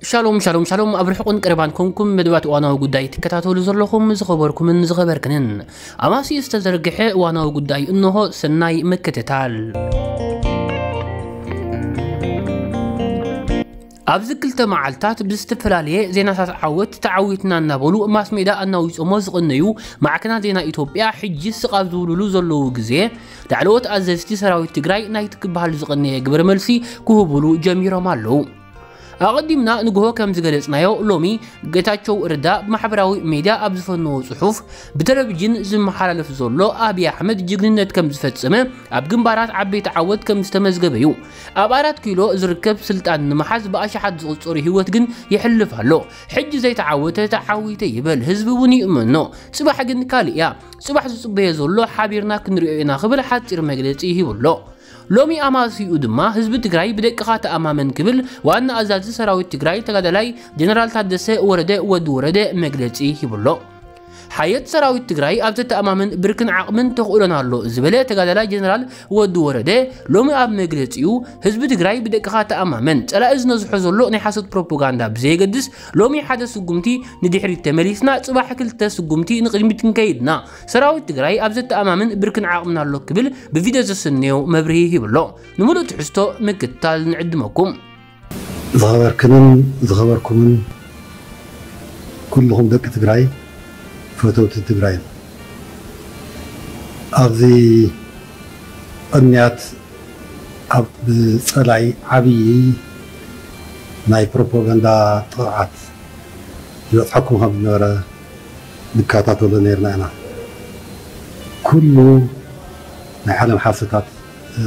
ሻሎም ሻሎም ሻሎም፣ ኣብ ርሑቕን ቀረባን ኮንኩም መደባት እዋናዊ ጉዳይ ትከታተሉ ዘለኹም ዝኸበርኩምን ዝኸበርክንን፣ ኣማሲ ዝተዘርግሐ እዋናዊ ጉዳይ እንሆ። ሰናይ ምክትታል። ኣብዚ ክልተ መዓልታት ብዝተፈላለየ ዜናታት ዓወት ተዓዊትና እናበሉ ማስ ሜዳ ኣናዊጾሞ ዝቕነዩ ማዕከናት ዜና ኢትዮጵያ፣ ሕጂ ስቕ ኣብ ዝብሉሉ ዘለዉ ግዜ፣ ላዕለዎት ኣዘዝቲ ሰራዊት ትግራይ ናይቲ ክበሃል ዝቐነየ ግብረ መልሲ ክህቡሉ ጀሚሮም ኣለዉ። ኣቐዲምና ንግሆ ከም ዝገለጽናዮ፣ ሎሚ ጌታቸው ረዳ ብማሕበራዊ ሜድያ ኣብ ዝፈነዎ ጽሑፍ፣ ብቴሌቪዥን ዝመሓላለፍ ዘሎ ኣብይ ኣሕመድ ጅግንነት ከም ዝፈጸመ፣ ኣብ ግንባራት ዓበይቲ ዓወት ከም ዝተመዝገበ እዩ። ኣብ ኣራት ኪሎ ዝርከብ ስልጣን ንምሓዝ ብኣሽሓት ዝቑጸሩ ህይወት ግን ይሕልፍ ኣሎ። ሕጂ ዘይተዓወተ ተዓዊተ ይበል፣ ህዝቢ እውን ይእመኖ። ጽባሕ ግን ካልእ እያ። ጽባሕ ዝጽበዮ ዘሎ ሓቢርና ክንሪኦ ኢና ክብል ሓጺር መግለጺ ሂቡ ኣሎ። ሎሚ ኣማስይኡ ድማ ህዝቢ ትግራይ ብደቅኻ ተኣማመን ክብል ዋና ኣዛዚ ሰራዊት ትግራይ ተጋዳላይ ጀነራል ታደሰ ወረደ ወዲ ወረደ መግለጺ ሂቡ ኣሎ። ሓየት ሰራዊት ትግራይ ኣብ ዘተኣማምን ብርክን ዓቕምን ተኽእሎን ኣሎ ዝበለ ተጋዳላይ ጀነራል ወዲ ወረደ ሎሚ ኣብ መግለጺኡ፣ ህዝቢ ትግራይ ብደቅኻ ተኣማመን፣ ጸላኢ ዝነዝሖ ዘሎ ናይ ሓሶት ፕሮፓጋንዳ ብዘየገድስ፣ ሎሚ ሓደ ስጉምቲ ንድሕሪት ተመሊስና፣ ጽባሕ ክልተ ስጉምቲ ንቕድሚት ክንከይድና፣ ሰራዊት ትግራይ ኣብ ዘተኣማምን ብርክን ዓቕምን ኣሎ ክብል ብቪድዮ ዘሰነዮ መብርሂ ሂቡ ኣሎ። ንምሉእ ትሕዝቶ ምክትታል ንዕድመኩም። ዝኸበርክንን ዝኸበርኩምን ኩልኹም ደቂ ትግራይ፣ ፈተውቲ ትግራይ፣ ኣብዚ ቅንያት ኣብ ብጸላይ ዓብዪ ናይ ፕሮፓጋንዳ ጥቕዓት ይበጽሐኩም ከም ዝነበረ ንከታተሎ ነይርና ኢና። ኩሉ ናይ ዓለም ሓሰታት፣ እ፣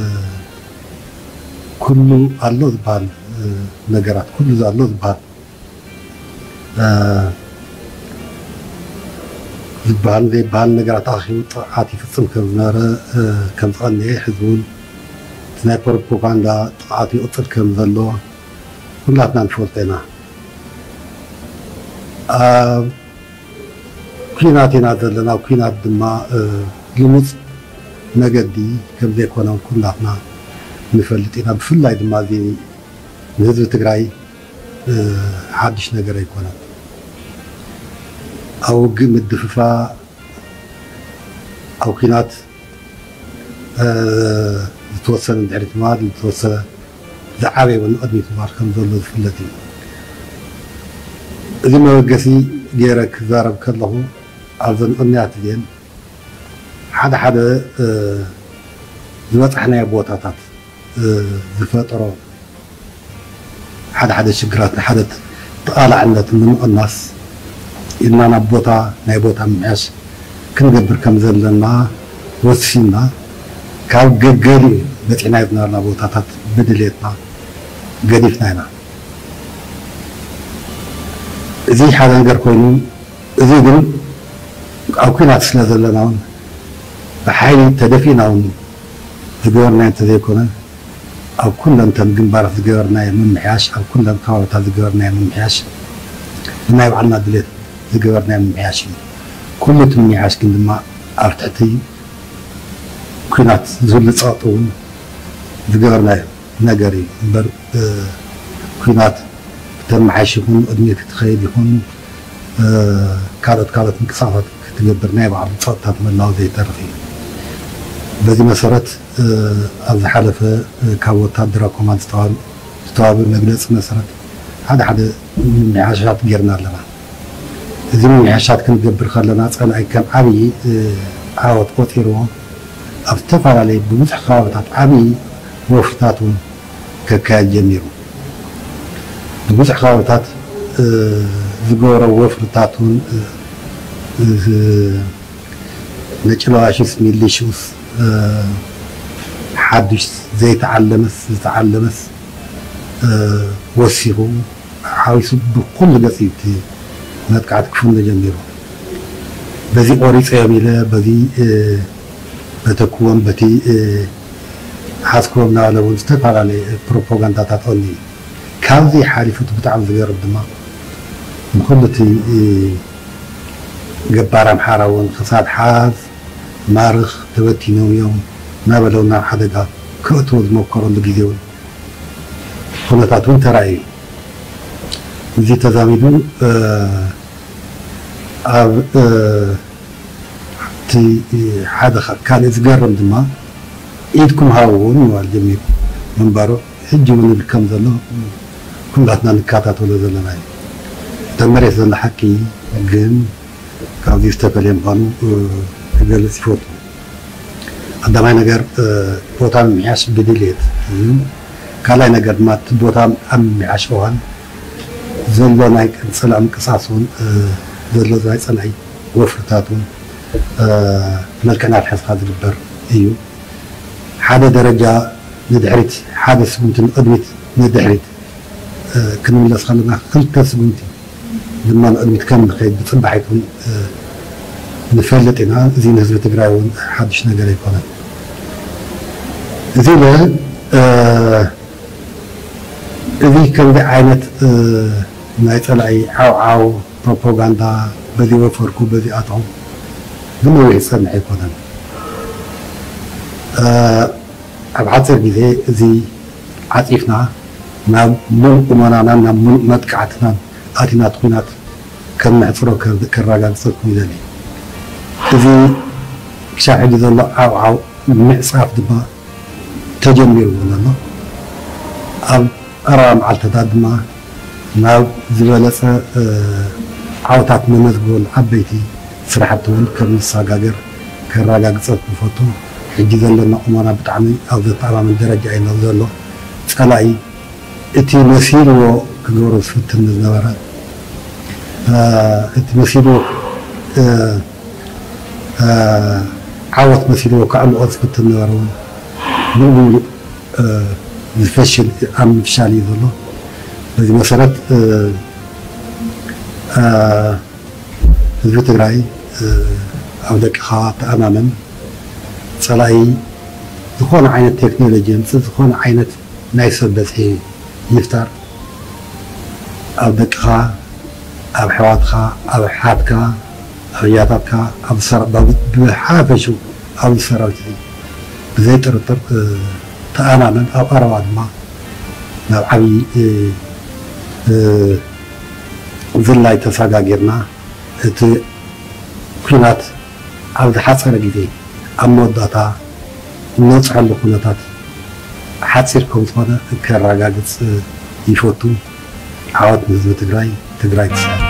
ኩሉ ኣሎ ዝበሃል፣ እ፣ ነገራት፣ ኩሉ ኣሎ ዝበሃል፣ እ፣ ዝበሃል ዘይበሃል ነገራት ኣኺቡ ጥቕዓት ይፍጽም ከም ዝነበረ፣ እ፣ ከም ዝቐነየ፣ ሕዚ እውን እቲ ናይ ፕሮፓጋንዳ ጥቕዓት ይቕጽል ከም ዘሎ ኩላትና ንፈልጦ ኢና። ኣብ ኲናት ኢና ዘለና። ኣብ ኲናት ድማ፣ እ፣ ልሙጽ መገዲ ከም ዘይኮነ ኩላትና ንፈልጥ ኢና። ብፍላይ ድማ እዚ ንህዝቢ ትግራይ፣ እ፣ ሓድሽ ነገር ኣይኮነን። ኣብ ውግእ ምድፍፋእ፣ ኣብ ኲናት፣ እ፣ ዝተወሰነ ንድሕሪት ምባል፣ ዝተወሰነ ዝዓበየ እውን ንቕድሚት ምባል ከም ዘሎ ዝፍለጥ እዩ። እዚ መበገሲ ገይረ ክዛረብ ከለኹ፣ ኣብዘን ቅንያት እዚአን ሓደ ሓደ፣ እ፣ ዝበጻሕናዮ ቦታታት፣ እ፣ ዝፈጠሮ ሓደ ሓደ ሽግራት ንሓደ ተቓላዕነት ንምቕናስ ኢልና ናብ ቦታ፣ ናይ ቦታ ምምሕያሽ ክንገብር ከም ዘለና ወሲንና፣ ካብ ገገሊኡ በጺሕናዮ ዝነበርና ቦታታት ብድሌትና ገዲፍና ኢና። እዚ ሓደ ነገር ኮይኑ፣ እዚ ግን ኣብ ኲናት ስለ ዘለና እውን ብሓይሊ ተደፊእና እውን ዝገበርናዮ እንተዘይኮነ፣ ኣብ ኩለን እተን ግንባራት ዝገበርናዮ ምምሕያሽ፣ ኣብ ኩለን ከባቢታት ዝገበርናዮ ምምሕያሽ፣ ብናይ ባዕልና ድሌት ዝገበርናዮ ምምሕያሽ እዩ። ኩሉ እቲ ምምሕያሽ ግን ድማ ኣብ ትሕቲ ኲናት ዝህሉ ጸቕጢ እውን ዝገበርናዮ ነገር እዩ እምበር፣ እ፣ ኲናት ክተመሓይሽ ይኹን፣ ቅድሚት ክትኸይድ ይኹን፣ እ፣ ካልኦት ካልኦት ምንቅስቃሳት ክትገብር ናይ ባዕሉ ጸቕጥታት ምህላው ዘይተርፍ እዩ። በዚ መሰረት፣ እ፣ ኣብ ዝሓለፈ፣ እ፣ ካብ ወታደራዊ ኮማንድ ዝተዋህበ፣ ዝተዋህበ መግለጺ መሰረት ሓደ ሓደ ምምሕያሻት ጌርና ኣለና። እዚ ምምሕያሻት ክንገብር ከለና ጸላኢ ከም ዓብዪ፣ እ፣ ዓወት ቆጺርዎ ኣብ ዝተፈላለዩ ብብዙሕ ከባቢታት ዓብዪ ወፍርታት እውን ከካየድ ጀሚሩ። ብብዙሕ ከባቢታት፣ እ፣ ዝገበሮ ወፍርታት እውን፣ እ፣ እ፣ ነጭለዋሽስ ሚሊሽስ፣ እ፣ ሓዱሽ ዘይተዓለመስ ዝተዓለመስ፣ እ፣ ወሲኹ ሓዊሱ ብኩሉ ገጽ እዩ እቲ መጥቃዕቲ ክፍነ ጀሚሩ። በዚ ቆሪጸዮም ኢለ፣ በዚ፣ እ፣ በተክዎም፣ በቲ፣ እ፣ ሓዝክዎም እናበለ እውን ዝተፈላለየ ፕሮፓጋንዳታት ቀንዩ እዩ። ካብዚ ሓሊፉ እቲ ብጣዕሚ ዝገርም ድማ ንኩሉ እቲ፣ እ፣ ገባር ኣምሓራ እውን ክሳድ ሓዝ ማርኽ ተበቲኖም እዮም እናበለ እውን ናብ ሓደጋ ከእትዎ ዝመከረሉ ግዜ እውን ኩነታት እውን ተራእዩ። እዚ ተዛሚዱ ኣብ እቲ ሓደ ካልእ ዝገርም ድማ ኢድኩም ሃብዎ ምባል ጀሚሩ ምንባሩ ሕጂ እውን ይብል ከም ዘሎ ኩላትና ንከታተሎ ዘለና እዩ። እታ መሬት ዘሎ ሓቂ ግን ካብዚ ዝተፈለየ ምዃኑ ክገልጽ ይፈቱ። ቀዳማይ ነገር ቦታ ምምሕያሽ ብድልየት እዩ። ካልኣይ ነገር ድማ እቲ ቦታ ኣብ ምምሕያሽ እዋን ዘሎ ናይ ጸላኢ ምንቅስቃስ እውን ዘሎ ናይ ጸላኢ ወፍርታት እውን መልክዕ እናትሓዝካ ዝግበር እዩ። ሓደ ደረጃ ንድሕሪት፣ ሓደ ስጉምቲ ንቕድሚት ንድሕሪት ክንምለስ ከለና ክልተ ስጉምቲ ድማ ንቕድሚት ከም ንኸይድ ብጽባሒት እውን ንፈልጥ ኢና። እዚ ንህዝቢ ትግራይ እውን ሓድሽ ነገር ኣይኮነን። እዚ ኢለ እዚ ከምዚ ዓይነት ናይ ጸላኢ ዓውዓው ፕሮፓጋንዳ በዚ ወፈርኩ በዚ ኣትኹ ብነዊሕ ዝጸንሕ ኣይኮነን። ኣብ ሓፂር ግዜ እዚ ዓፂፍና ናብ ሙሉእ ቁመናናን ናብ ሙሉእ መጥቃዕትናን ኣቲና እቲ ኲናት ከም ነሕፅሮ ከረጋግፀልኩም ይደሊ። እዚ ክሻብ ሕጂ ዘሎ ዓውዓው ምዕፃፍ ድማ ተጀሚርዎ ዘሎ። ኣብ ቀረባ መዓልትታት ድማ ናብ ዝበለፀ ዓወታት ነመዝግበሉ ዓበይቲ ስራሕቲ እውን ከም ንሰጋገር ከረጋግፀልኩም ይፈቱ። ሕጂ ዘለና ቁመና ብጣዕሚ ኣብ ዘተኣማምን ደረጃ እዩ ዘሎ። ፀላኢ እቲ መሲልዎ ክገብሮ ዝፍትን ዝነበረ እቲ መሲልዎ ዓወት መሲልዎ ከዕልቆ ዝፍትን ነበረ እውን ሙሉእ ብሙሉእ ዝፈሽል ኣብ ምፍሻል እዩ ዘሎ። በዚ መሰረት ህዝቢ ትግራይ ኣብ ደቅኻ ተኣማመን። ፀላኢ ዝኾነ ዓይነት ቴክኖሎጂ የምፅእ፣ ዝኾነ ዓይነት ናይ ሰብ በዝሒ ይፍጠር፣ ኣብ ደቅኻ፣ ኣብ ኣሕዋትካ፣ ኣብ ኣሓትካ፣ ኣብ ኣያታትካ፣ ኣብ ሰራ-፣ ብሓፈሽኡ ኣብዚ ሰራዊት እዚ ብዘይ ጥርጥር ተኣማመን። ኣብ ቀረባ ድማ ናብ ዓብዪ ዝላይ ተሰጋጊርና እቲ ኲናት ኣብ ዝሓፀረ ግዜ ኣብ መወዳእታ እንበፅሐሉ ኩነታት ሓፂር ከም ዝኾነ ከረጋግፅ ይፈቱ። ዓወት ንህዝቢ ትግራይ። ትግራይ ትስዕር።